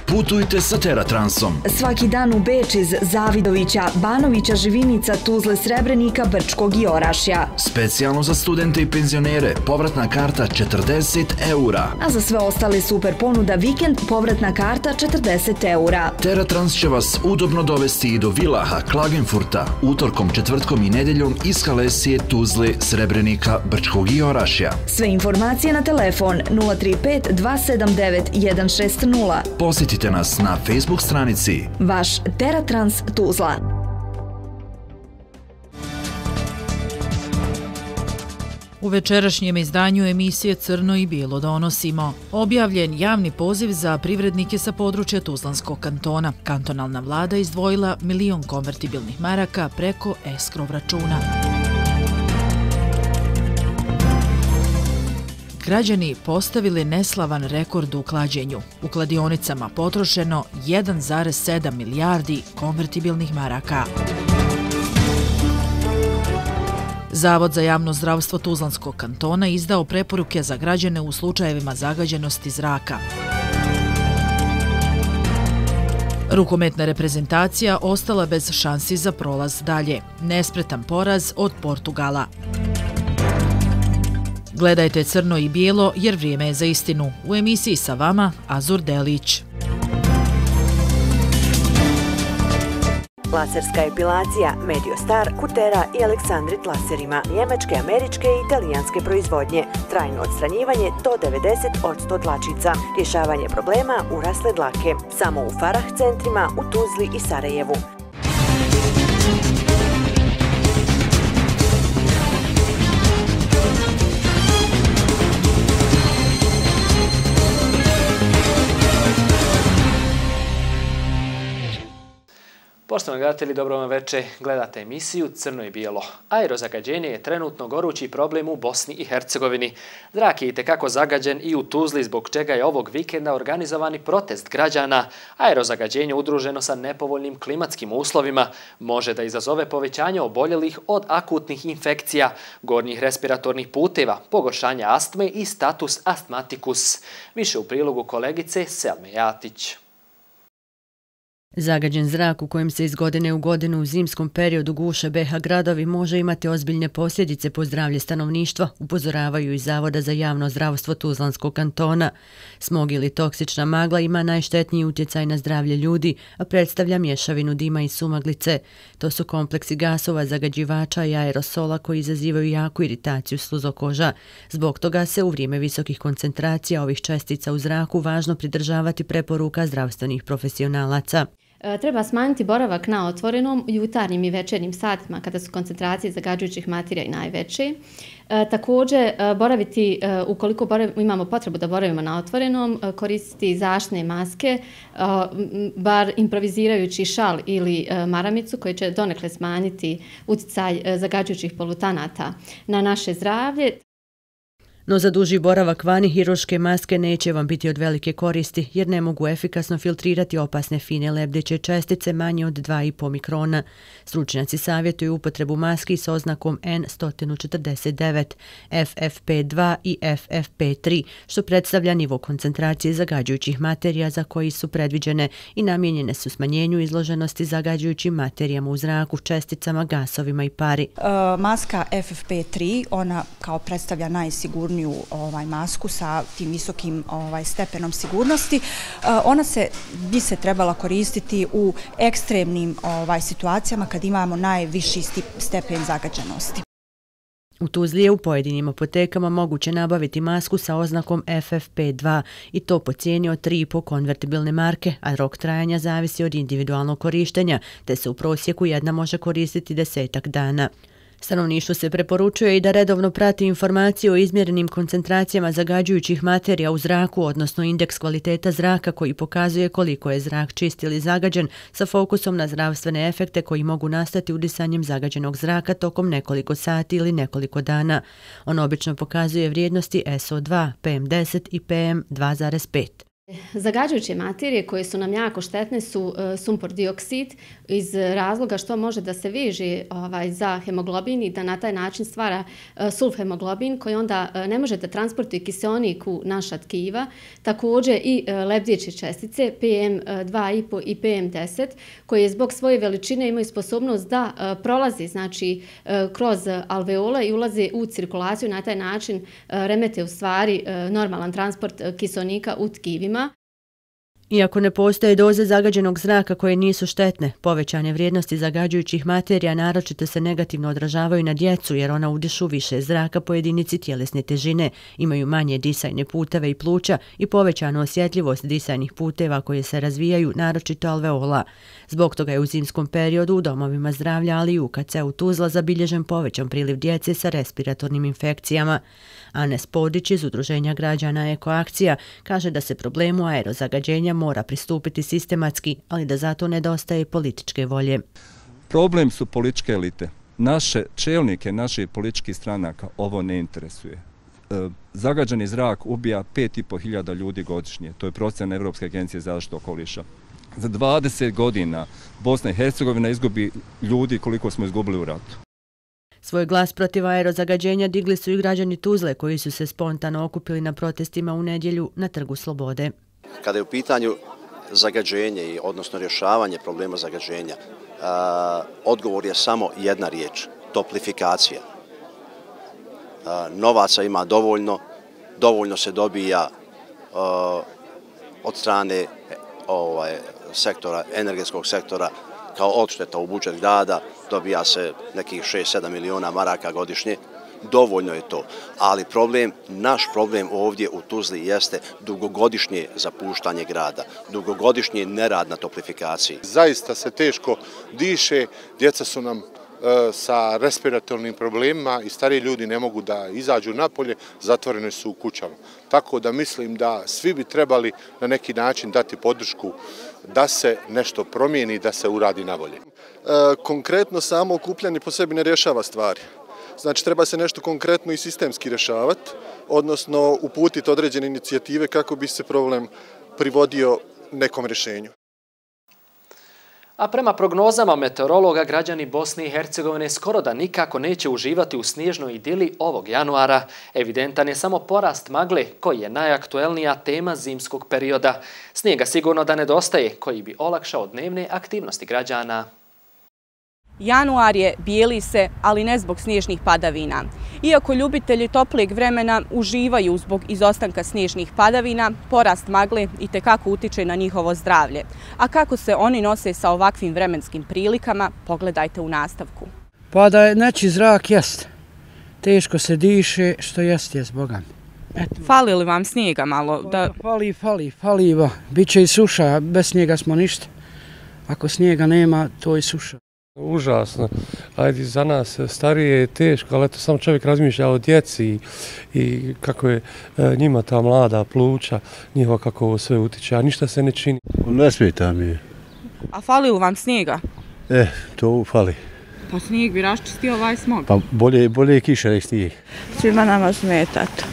Putujte sa Teratransom. Svaki dan u Beč iz Zavidovića, Banovića, Živinica, Tuzle, Srebrenika, Brčkog i Orašja. Specijalno za studente i penzionere, povratna karta 40 €. A za sve ostale super ponuda vikend, povratna karta 40 €. Teratrans će vas udobno dovesti i do Vilaha, Klagenfurta, utorkom, četvrtkom i nedeljom iz Kalesije, Tuzle, Srebrenika, Brčkog i Orašja. Sve informacije na telefon 035 279 160. Posjetite nas na Facebook stranici Vaš Teratrans Tuzla. U večerašnjem izdanju emisije Crno i bijelo donosimo objavljen javni poziv za privrednike sa područja Tuzlanskog kantona. Kantonalna vlada izdvojila 1.000.000 konvertibilnih maraka preko eskrov računa. Građani postavili neslavan rekord u klađenju. U kladionicama potrošeno 1,7 milijardi konvertibilnih maraka. Zavod za javno zdravstvo Tuzlanskog kantona izdao preporuke za građane u slučajevima zagađenosti zraka. Rukometna reprezentacija ostala bez šansi za prolaz dalje. Nespretan poraz od Portugala. Gledajte Crno i bijelo jer vrijeme je za istinu. U emisiji sa vama Azur Delić. Laserska epilacija, Mediostar, Kutera i Aleksandrit laserima, njemačke, američke i italijanske proizvodnje, trajno odstranjivanje do 90% dlačica, rješavanje problema urasle dlake, samo u Farah centrima u Tuzli i Sarajevu. Poštovani gledatelji, dobro vam večer. Gledate emisiju Crno i bijelo. Aerozagađenje je trenutno gorući problem u Bosni i Hercegovini. Zrak je itekako zagađen i u Tuzli, zbog čega je ovog vikenda organizovani protest građana. Aerozagađenje udruženo sa nepovoljnim klimatskim uslovima može da izazove povećanje oboljelih od akutnih infekcija, gornjih respiratornih puteva, pogoršanja astme i status astmatikus. Više u prilogu kolegice Selme Jatić. Zagađen zrak u kojem se iz godine u godinu u zimskom periodu guše BiH gradovi može imati ozbiljne posljedice po zdravlje stanovništva, upozoravaju iz Zavoda za javno zdravstvo Tuzlanskog kantona. Smog ili toksična magla ima najštetniji utjecaj na zdravlje ljudi, a predstavlja mješavinu dima i sumaglice. To su kompleksi gasova, zagađivača i aerosola koji izazivaju jaku iritaciju sluzokoža. Zbog toga se u vrijeme visokih koncentracija ovih čestica u zraku važno pridržavati preporuka zdravstvenih profesionalaca. Treba smanjiti boravak na otvorenom jutarnjim i večernjim satima kada su koncentracije zagađujućih materija i najveće. Također, ukoliko imamo potrebu da boravimo na otvorenom, koristiti zaštitne maske, bar improvizirajući šal ili maramicu koji će donekle smanjiti utjecaj zagađujućih polutanata na naše zdravlje. No za duži boravak vani hirurške maske neće vam biti od velike koristi jer ne mogu efikasno filtrirati opasne fine lebdeće čestice manje od 2,5 mikrona. Stručnjaci savjetuju upotrebu maski s oznakom N149, FFP2 i FFP3, što predstavlja nivo koncentracije zagađujućih materija za koji su predviđene i namijenjene su smanjenju izloženosti zagađujućim materijama u zraku, česticama, gasovima i pari. Maska FFP3, ona kao predstavlja najsigurniju masku sa tim visokim stepenom sigurnosti. Ona bi se trebala koristiti u ekstremnim situacijama kad imamo najviši stepen zagađenosti. U Tuzli je u pojedinim apotekama moguće nabaviti masku sa oznakom FFP2 i to po cijeni od 3,5 konvertibilne marke, a rok trajanja zavisi od individualnog korištenja, te se u prosjeku jedna može koristiti 10 dana. Stanovništvu se preporučuje i da redovno prati informacije o izmjerenim koncentracijama zagađujućih materija u zraku, odnosno indeks kvaliteta zraka koji pokazuje koliko je zrak čist ili zagađen, sa fokusom na zdravstvene efekte koji mogu nastati udisanjem zagađenog zraka tokom nekoliko sati ili nekoliko dana. On obično pokazuje vrijednosti SO2, PM10 i PM2,5. Zagađujuće materije koje su nam jako štetne su sumpor dioksid iz razloga što može da se veže za hemoglobin i da na taj način stvara sulfhemoglobin koji onda ne može da transportuje kiseonik u naša tkiva. Također i lebdeće čestice PM2,5 i PM10 koje zbog svoje veličine imaju sposobnost da prolaze kroz alveole i ulaze u cirkulaciju, na taj način remete u stvari normalan transport kiseonika u tkivima. Iako ne postoje doze zagađenog zraka koje nisu štetne, povećane vrijednosti zagađujućih materija naročito se negativno odražavaju na djecu jer ona udišu više zraka po jedinici tjelesne težine, imaju manje disajne puteve i pluća i povećanu osjetljivost disajnih puteva koje se razvijaju, naročito alveola. Zbog toga je u zimskom periodu u domovima zdravlja, ali i u KC-u Tuzla zabilježen povećan priliv djece sa respiratornim infekcijama. Anes Podić iz Udruženja građana Ekoakcija kaže da se problemu aerozagađenja mora pristupiti sistematski, ali da zato nedostaje političke volje. Problem su političke elite. Naše čelnike, naših političkih stranaka ovo ne interesuje. Zagađeni zrak ubija 5.500 ljudi godišnje. To je procjena Evropske agencije za zaštitu okoliša. Za 20 godina Bosna i Hercegovina izgubi ljudi koliko smo izgubili u ratu. Svoj glas protiv aerozagađenja digli su i građani Tuzle koji su se spontano okupili na protestima u nedjelju na Trgu Slobode. Kada je u pitanju zagađenje, odnosno rješavanje problema zagađenja, odgovor je samo jedna riječ, toplifikacija. Novaca ima dovoljno se dobija od strane energetskog sektora kao odšteta u budžet grada, dobija se nekih 6-7 miliona maraka godišnje. Dovoljno je to, ali naš problem ovdje u Tuzli jeste dugogodišnje zapuštanje grada, dugogodišnji nerad na toplifikaciji. Zaista se teško diše, djeca su nam sa respiratornim problemima i stariji ljudi ne mogu da izađu napolje, zatvoreni su u kućama. Tako da mislim da svi bi trebali na neki način dati podršku da se nešto promijeni, da se uradi nabolje. Konkretno samo okupljanje po sebi ne rješava stvari. Znači, treba se nešto konkretno i sistemski rješavati, odnosno uputiti određene inicijative kako bi se problem privodio nekom rješenju. A prema prognozama meteorologa, građani Bosne i Hercegovine skoro da nikako neće uživati u snježnoj idili ovog januara. Evidentan je samo porast magle, koji je najaktuelnija tema zimskog perioda. Snijega sigurno da nedostaje, koji bi olakšao dnevne aktivnosti građana. Januar je, bijeli se, ali ne zbog snježnih padavina. Iako ljubitelji toplijeg vremena uživaju zbog izostanka snježnih padavina, porast magle itekako utiče na njihovo zdravlje. A kako se oni nose sa ovakvim vremenskim prilikama, pogledajte u nastavku. Pa da je neći zrak, jest. Teško se diše, što jest, Boga. Fali li vam snijega malo? Fali. Biće i suša, bez snijega smo ništa. Ako snijega nema, to je suša. Užasno. Ajde, za nas starije je teško, ali eto samo čovjek razmišlja o djeci i kako je njima ta mlada pluća, njihova kako ovo sve utiče, a ništa se ne čini. Ne smeta mi. A fali li vam snijega? To fali. Pa snijeg bi raščistio ovaj smog. Pa bolje je kiša nek snijeg. Svima nama smeta to.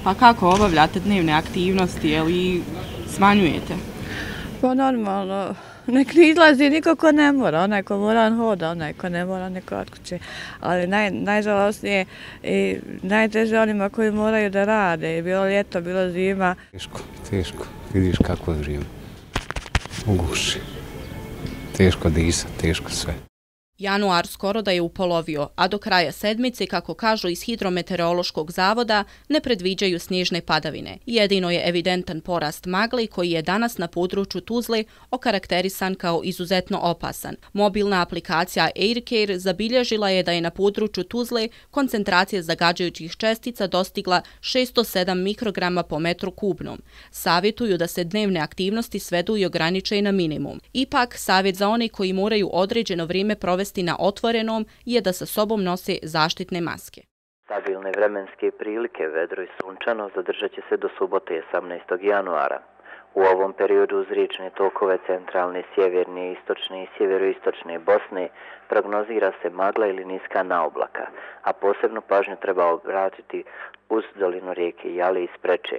Pa kako obavljate dnevne aktivnosti, ili smanjujete? Pa normalno. Nek ne izlazi niko ko ne mora, onaj ko mora hoda, onaj ko ne mora neko od kuće. Ali najžalostnije i najteže onima koji moraju da rade, bilo ljeto, bilo zima. Teško, vidiš kako je vrijeme. Uguši. Teško disat, teško sve. Januar skoro da je upolovio, a do kraja sedmice, kako kažu iz Hidrometeorološkog zavoda, ne predviđaju snježne padavine. Jedino je evidentan porast magle koji je danas na području Tuzle okarakterisan kao izuzetno opasan. Mobilna aplikacija AirCare zabilježila je da je na području Tuzle koncentracija zagađujućih čestica dostigla 607 mikrograma po metru kubnom. Savjetuju da se dnevne aktivnosti svedu i ograniče na minimum. Ipak, savjet za one koji moraju određeno vrijeme provesti na otvorenom je da sa sobom nose zaštitne maske. Stabilne vremenske prilike, vedro i sunčano, zadržat će se do subote 18. januara. U ovom periodu uz riječne tokove centralne, sjeverne, istočne i sjeveroistočne Bosne prognozira se magla ili niska naoblaka, a posebnu pažnju treba obratiti uz dolinu rijeke Jale i Spreče.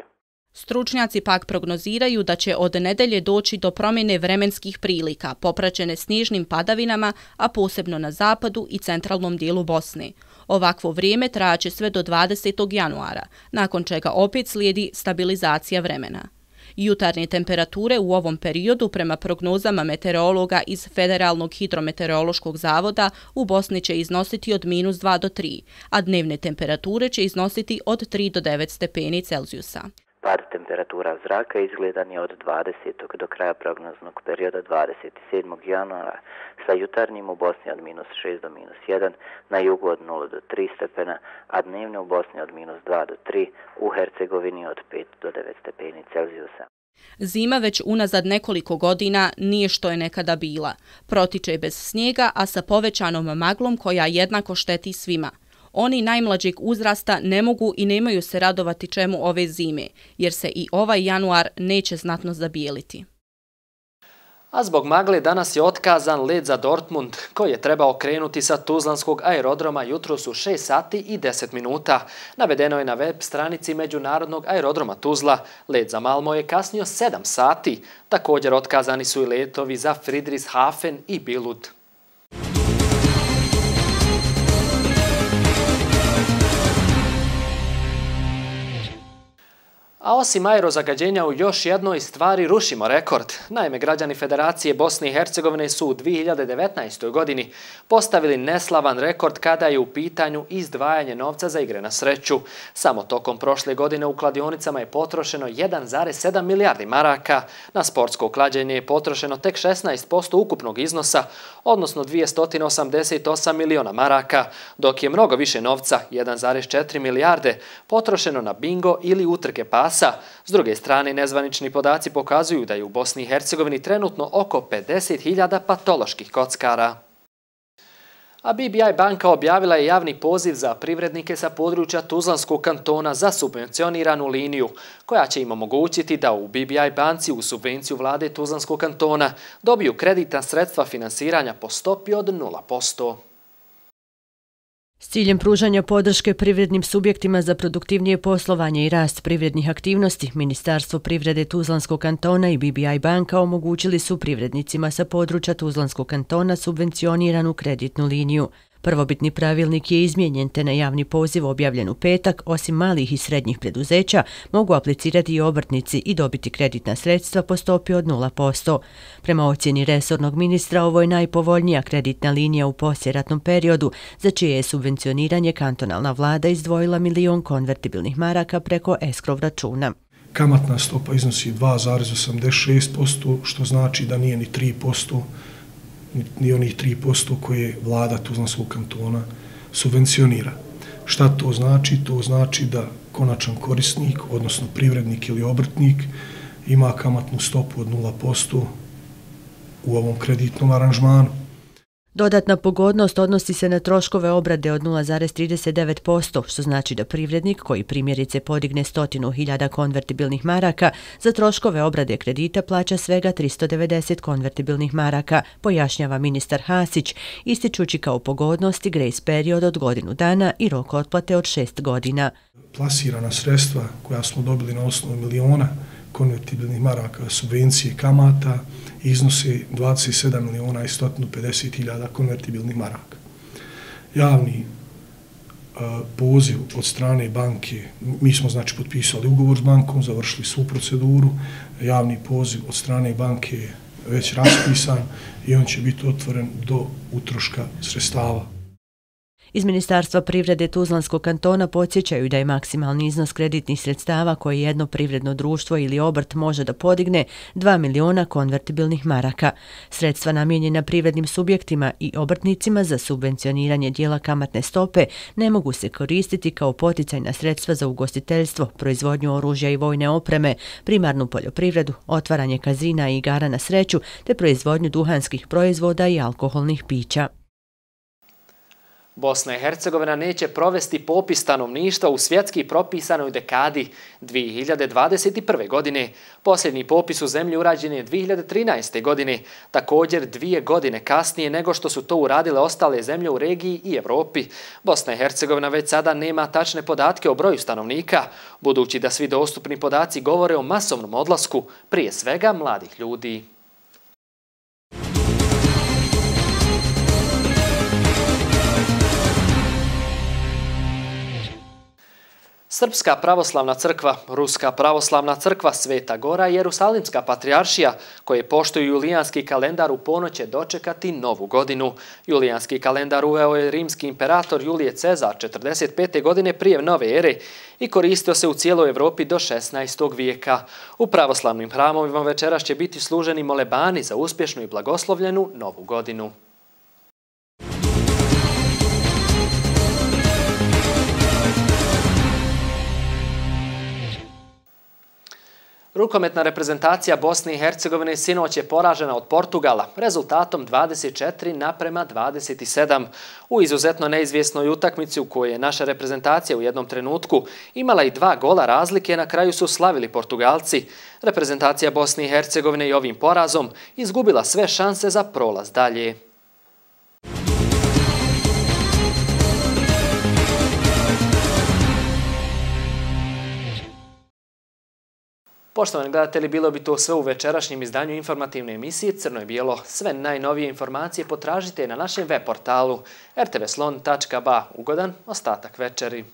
Stručnjaci pak prognoziraju da će od nedelje doći do promjene vremenskih prilika, popraćene snježnim padavinama, a posebno na zapadu i centralnom dijelu Bosne. Ovakvo vrijeme trajaće sve do 20. januara, nakon čega opet slijedi stabilizacija vremena. Jutarnje temperature u ovom periodu, prema prognozama meteorologa iz Federalnog hidrometeorološkog zavoda, u Bosni će iznositi od -2 do 3, a dnevne temperature će iznositi od 3 do 9 stepeni Celzijusa. Pad temperatura zraka izgledan je od 20. do kraja prognoznog perioda 27. januara, sa jutarnjim u Bosni od -6 do -1, na jugu od 0 do 3 stepena, a dnevne u Bosni od -2 do 3, u Hercegovini od 5 do 9 stepeni Celzijusa. Zima već unazad nekoliko godina nije što je nekada bila. Protiče bez snijega, a sa povećanom maglom koja jednako šteti svima. Oni najmlađeg uzrasta ne mogu i nemaju se radovati čemu ove zime, jer se i ovaj januar neće znatno zabijeliti. A zbog magle danas je otkazan let za Dortmund, koji je trebao krenuti sa tuzlanskog aerodroma jutros u 6 sati i 10 minuta. Navedeno je na web stranici Međunarodnog aerodroma Tuzla. Let za Malmo je kasnio 7 sati. Također otkazani su i letovi za Friedrichshafen i Bilud. A osim aerozagađenja u još jednoj stvari rušimo rekord. Naime, građani Federacije Bosne i Hercegovine su u 2019. godini postavili neslavan rekord kada je u pitanju izdvajanje novca za igre na sreću. Samo tokom prošle godine u kladionicama je potrošeno 1,7 milijardi maraka. Na sportsko klađenje je potrošeno tek 16% ukupnog iznosa, odnosno 288 miliona maraka, dok je mnogo više novca, 1,4 milijarde, potrošeno na bingo ili utrke pasa. S druge strane, nezvanični podaci pokazuju da je u Bosni i Hercegovini trenutno oko 50.000 patoloških kockara. A BBI banka objavila je javni poziv za privrednike sa područja Tuzlanskog kantona za subvencioniranu liniju, koja će im omogućiti da u BBI banci u subvenciju vlade Tuzlanskog kantona dobiju kreditna sredstva finansiranja po stopi od 0%. S ciljem pružanja podrške privrednim subjektima za produktivnije poslovanje i rast privrednih aktivnosti, Ministarstvo privrede Tuzlanskog kantona i BBI banka omogućili su privrednicima sa područja Tuzlanskog kantona subvencioniranu kreditnu liniju. Prvobitni pravilnik je izmijenjen te na javni poziv objavljen u petak, osim malih i srednjih preduzeća, mogu aplicirati i obrtnici i dobiti kreditna sredstva po stopi od 0%. Prema ocjeni resornog ministra, ovo je najpovoljnija kreditna linija u poslijeratnom periodu, za čije je subvencioniranje kantonalna vlada izdvojila 1 milion konvertibilnih maraka preko eskrov računa. Kamatna stopa iznosi 2,86%, što znači da nije ni 3%, ni onih 3% koje vlada Tuzlanskog kantona subvencionira. Šta to znači? To znači da konačan korisnik, odnosno privrednik ili obrtnik, ima kamatnu stopu od 0% u ovom kreditnom aranžmanu. Dodatna pogodnost odnosi se na troškove obrade od 0,39%, što znači da privrednik koji primjerice podigne 100.000 konvertibilnih maraka za troškove obrade kredita plaća svega 390 konvertibilnih maraka, pojašnjava ministar Hasić, ističući kao pogodnosti grace period od godinu dana i rok otplate od 6 godina. Plasirana sredstva koja smo dobili na osnovu miliona konvertibilnih maraka subvencije kamata iznose 27.150.000 konvertibilnih maraka. Javni poziv od strane banke, mi smo znači potpisali ugovor s bankom, završili svu proceduru, javni poziv od strane banke je već raspisan i on će biti otvoren do utroška sredstava. Iz Ministarstva privrede Tuzlanskog kantona podsjećaju da je maksimalni iznos kreditnih sredstava koje jedno privredno društvo ili obrt može da podigne 2 miliona konvertibilnih maraka. Sredstva namijenjena privrednim subjektima i obrtnicima za subvencioniranje dijela kamatne stope ne mogu se koristiti kao poticajna sredstva za ugostiteljstvo, proizvodnju oružja i vojne opreme, primarnu poljoprivredu, otvaranje kazina i igara na sreću te proizvodnju duhanskih proizvoda i alkoholnih pića. Bosna i Hercegovina neće provesti popis stanovništva u svjetski propisanoj dekadi 2021. godine. Posljednji popis u zemlji urađen je 2013. godine, također 2 godine kasnije nego što su to uradile ostale zemlje u regiji i Evropi. Bosna i Hercegovina već sada nema tačne podatke o broju stanovnika, budući da svi dostupni podaci govore o masovnom odlasku, prije svega mladih ljudi. Srpska pravoslavna crkva, Ruska pravoslavna crkva, Sveta Gora i Jerusalimska patrijaršija, koje poštuju julijanski kalendar, u ponoć će dočekati novu godinu. Julijanski kalendar uveo je rimski imperator Julije Cezar 45. godine prije nove ere i koristio se u cijeloj Evropi do 16. vijeka. U pravoslavnim hramovima večeras će biti služeni molebani za uspješnu i blagoslovljenu novu godinu. Rukometna reprezentacija Bosne i Hercegovine sinoć je poražena od Portugala rezultatom 24:27 u izuzetno neizvjesnoj utakmici u kojoj je naša reprezentacija u jednom trenutku imala i 2 gola razlike, na kraju su slavili Portugalci. Reprezentacija Bosne i Hercegovine i ovim porazom izgubila sve šanse za prolaz dalje. Poštovani gledatelji, bilo bi to sve u večerašnjem izdanju informativne emisije Crno i bijelo. Sve najnovije informacije potražite na našem web portalu rtvslon.ba. Ugodan ostatak večeri.